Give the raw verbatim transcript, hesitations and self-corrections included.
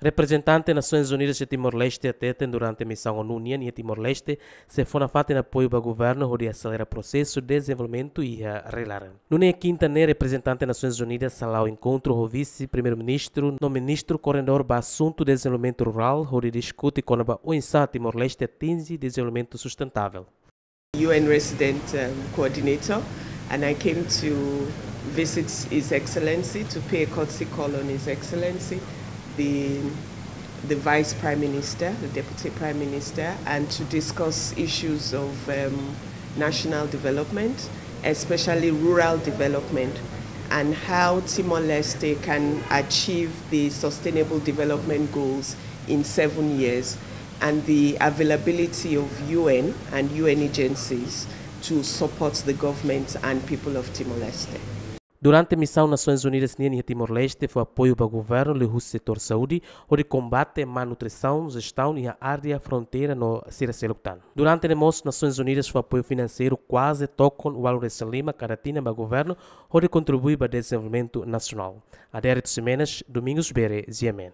Reprezentante Nasoins Unidas iha Timor-Leste hateten durante misaun ONU nian iha Timor-Leste sei fó nafatin apoiu ba governu hodi aselera prosesu dezenvolvimentu iha rai-laran. Nune'e kinta ne'e reprezentante Nasoins Unidas hala'o enkontru ho vise-primeiru-ministru no ministru koordenadór ba asuntu dezenvolvimentu rurál hodi diskute kona-ba oinsá Timor-Leste atinje dezenvolvimentu sustentável. U N resident um, coordinator, and I came to visit His Excellency, to pay a courtesy call on His Excellency, the the Vice Prime Minister, the Deputy Prime Minister, and to discuss issues of um, national development, especially rural development, and how Timor-Leste can achieve the Sustainable Development Goals in seven years, and the availability of U N and U N agencies to support the government and people of Timor-Leste. Durante misaun Nasoins Unidas nian iha Timor-Leste fó apoiu ba governu liuhusi setór saúde hodi kombate malnutrisaun, jestaun iha área fronteira no sira seluk tan. Durante ne'e mós Nasoins Unidas fó apoiu finanseiru kuaze tokon ualu resin lima kada tinan ba governu hodi kontribui ba dezenvolvimentu nasionál. Adérito Ximenes, Domingos Bere, G M N.